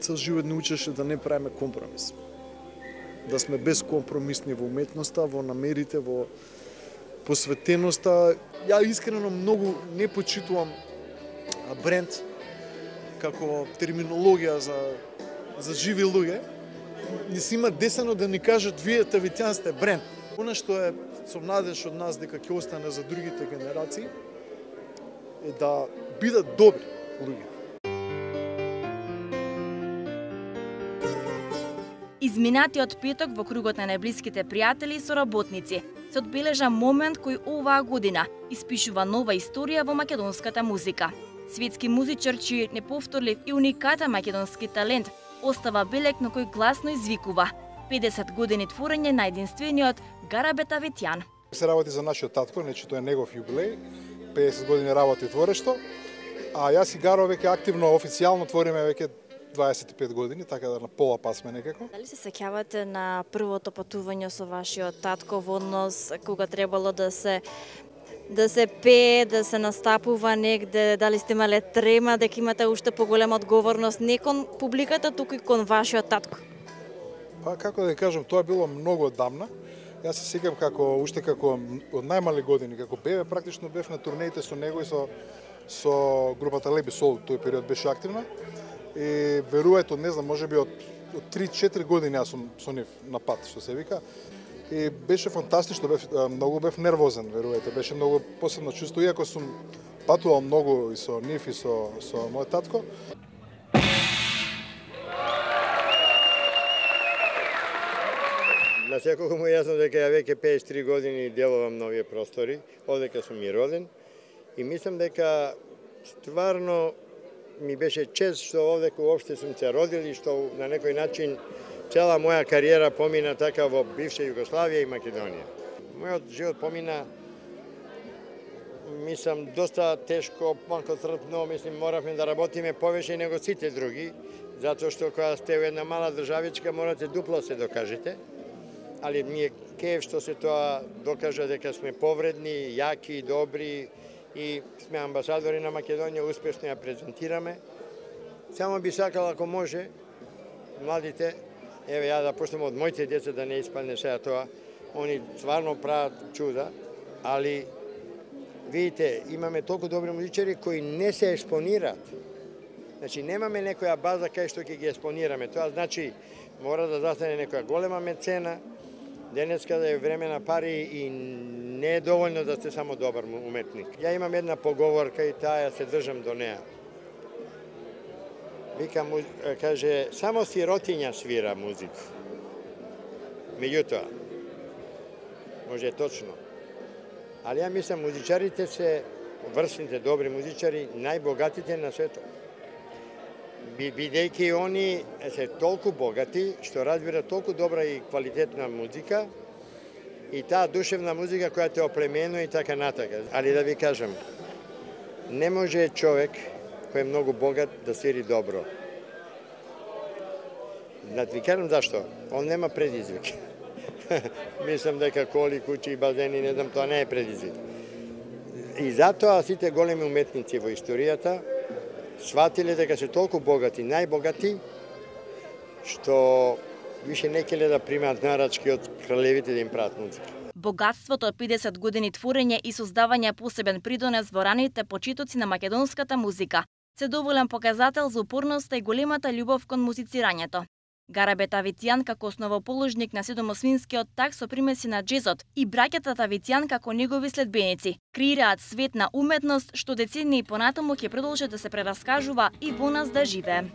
цел живот ни учеше да не правиме компромис. Да сме безкомпромисни во уметноста, во намерите, во посветеноста. Ја искрено многу не почитувам бренд како терминологија за живи луѓе. Не си има десено да ни кажат вие Тавитјан сте бренд. Она што е со надеж од нас дека ќе остане за другите генерации е да бидат добри луѓе. Изминатиот петок во кругот на најблиските пријатели и соработници се одбележа момент кој оваа година испишува нова историја во македонската музика. Светски музичар чиј неповторлив и уникатен македонски талент остава белег на кој гласно извикува 50 години творење на единствениот Гарабе Тавитјан. Се работи за нашиот татко, значи тоа е негов јубилеј, 50 години работи творештво, а јас и Гаро веќе активно официјално твориме веќе 25 години, така да на пола пат сме некако. Дали се сеќавате на првото патување со вашиот татко во однос кога требало да се пее, да се настапува негде, дали сте имале трема дека имате уште поголема одговорност не кон публиката, туку и кон вашиот татко? Па како да кажам, тоа било многу одамна. Јас се сеќам како уште како од најмали години, како бебе, практично бев на турнеите со него и со групата Леби Сол, тој период беше активна. И верувајте, не знам, можеби од 3-4 години јас сум со нив на пат, што се вика. И беше фантастично, многу бев нервозен, верувајте, беше многу посебно чувство, иако сум патувал многу и со нив и со мојот татко. На секој му јасно дека ја веќе 53 години делувам на овие простори, одека сум и роден, и мислам дека стварно ми беше чест што овдека уопште сум се родил и што на некој начин цела моја кариера помина така во бивша Југославија и Македонија. Мојот живот помина, мислам, доста тешко, малку трпно, мислим, моравме да работиме повеќе него сите други, затоа што кога сте во една мала државичка морате дупло се докажете, али ми е кеф што се тоа докажа дека сме повредни, јаки, добри и сме амбасадори на Македонија, успешно ја презентираме. Само би сакал, ако може, младите, еве ја да почнем од моите деца да не испадне сега тоа, они стварно прават чуда, али видите, имаме толку добри музичари кои не се експонираат. Значи немаме некоја база кај што ќе ги експонираме. Тоа значи мора да застане некоја голема мецена. Денеска да е време на пари и не е доволно да сте само добар уметник. Ја имам една поговорка и таа се држам до неа. Вика, каже, само сиротиња свира музику. Меѓутоа, може точно. Али ја мислам, музичарите се, врсните добри музичари, најбогатите на светот. Бидејќи они се толку богати, што разбира толку добра и квалитетна музика, и таа душевна музика која те оплеменува и така натака. Али да ви кажам, не може човек кој е многу богат да свири добро. Да ви кажам зашто? Он нема предизвик. Мислам дека коли, куќи и базени, не знам, тоа не е предизвик. И затоа сите големи уметници во историјата сватиле дека се толку богати, најбогати, што више не келе да примаат нарачки од кралевите да им прават музика. Богатството од 50 години творење и создавање посебен придонес во раните почитоци на македонската музика се доволен показател за упорноста и големата љубов кон музицирањето. Гарабе Тавитјан како основоположник на седомосвинскиот так со примеси на джезот и браќата Тавитјан како негови следбеници креираат свет на уметност што децении понатаму ќе продолжи да се прераскажува и во нас да живее.